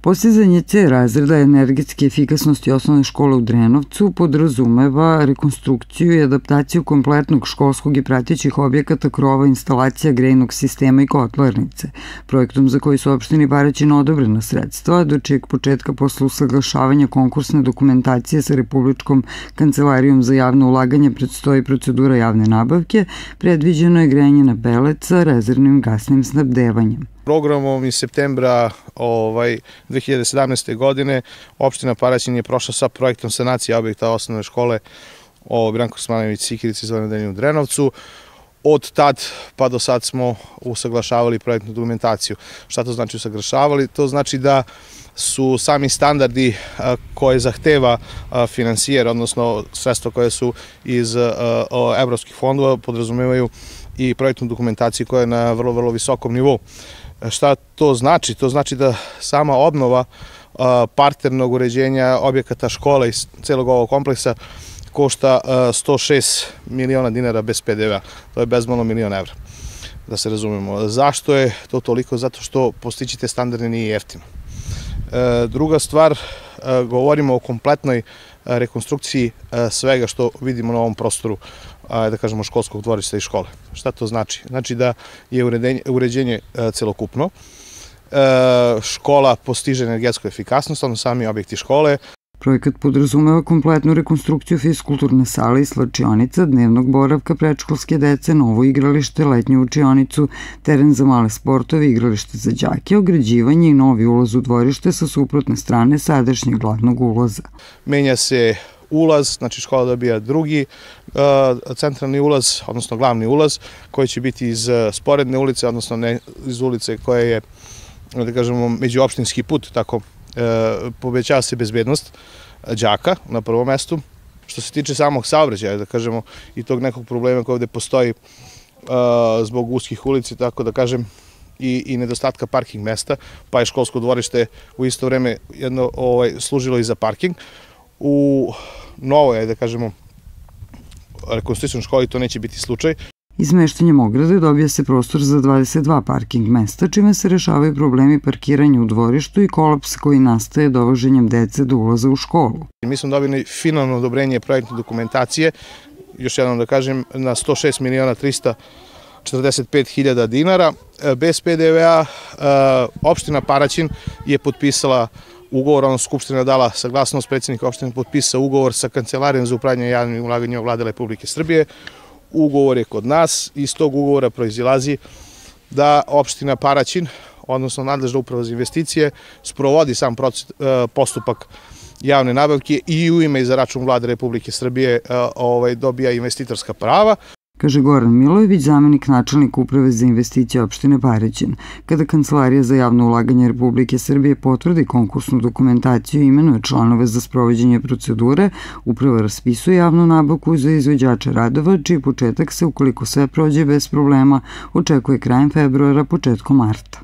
Postizanje C razreda energetske efikasnosti osnovne škole u Drenovcu podrazumeva rekonstrukciju i adaptaciju kompletnog školskog i pratećih objekata, krova, instalacija, grejnog sistema i kotlarnice. Projektom za koji su opštini Paraćin odobrena sredstva, do čijeg početka posle usaglašavanja konkursne dokumentacije sa Republičkom kancelarijom za javno ulaganje predstoji procedura javne nabavke, predviđeno je grejanje na pelet sa rezervnim gasnim snabdevanjem. Programom iz septembra 2017. godine opština Paraćin je prošla sa projektom sanacije objekta osnovne škole Branko Kosmanović Sikirica u Drenovcu. Od tad pa do sad smo usaglašavali projektnu dokumentaciju. Šta to znači usaglašavali? To znači da su sami standardi koje zahteva finansijer, odnosno sredstva koje su iz evropskih fondova, podrazumevaju i projektnu dokumentaciju koja je na vrlo visokom nivou. Šta to znači? To znači da sama obnova parternog uređenja objekata škole i celog ovog kompleksa košta 106 miliona dinara bez PDV-a. To je bezmalo €1.000.000, da se razumemo. Zašto je to toliko? Zato što postići te standarde nije jeftino. Druga stvar, govorimo o kompletnoj rekonstrukciji svega što vidimo na ovom prostoru, da kažemo, školskog dvorišta i škole. Šta to znači? Znači da je uređenje celokupno, škola postiže energetsku efikasnost, odnosno sami objekti škole. Projekat podrazumeva kompletnu rekonstrukciju fiskulturne sale i slačionica, dnevnog boravka predškolske dece, novo igralište, letnju učionicu, teren za male sportove, igralište za đake, ograđivanje i novi ulaz u dvorište sa suprotne strane sadašnjeg glavnog ulaza. Menja se ulaz, znači škola dobija drugi centralni ulaz, odnosno glavni ulaz, koji će biti iz sporedne ulice, odnosno ne iz ulice koja je, da kažemo, međuopštinski put, tako povećava se bezbednost đaka na prvom mestu. Što se tiče samog saobraćaja, da kažemo, i tog nekog problema koji ovde postoji zbog uskih ulici, tako da kažem, i nedostatka parking mesta, pa je školsko dvorište u isto vreme jedno služilo i za parking. U novoj, da kažemo, rekonstrukcijnoj školi to neće biti slučaj. Izmeštanjem ograde dobija se prostor za 22 parking mesta, čime se rešavaju problemi parkiranja u dvorištu i kolaps koji nastaje dovoženjem dece do ulaza u školu. Mi smo dobili finalno odobrenje projektne dokumentacije, još jednom da kažem, na 106.345.000 dinara. Bez PDV-a opština Paraćin je potpisala ugovor, odnosno Skupština dala saglasnost, predsjednika opštine potpisao ugovor sa Kancelarijom za upravljanje javnim ulaganjima Vlade Republike Srbije. Ugovor je kod nas i iz tog ugovora proizilazi da opština Paraćin, odnosno nadležna uprava za investicije, sprovodi sam postupak javne nabavke i u ime i za račun Vlade Republike Srbije dobija investitorska prava. Kaže Goran Milojević, zamenik načelnika Uprave za investicije opštine Paraćin. Kada Kancelarija za javno ulaganje Republike Srbije potvrdi konkursnu dokumentaciju i imenuje članove za sprovođenje procedure, Uprava raspisuje javnu nabavku za izvođače radova, čiji početak se, ukoliko sve prođe bez problema, očekuje krajem februara, početkom marta.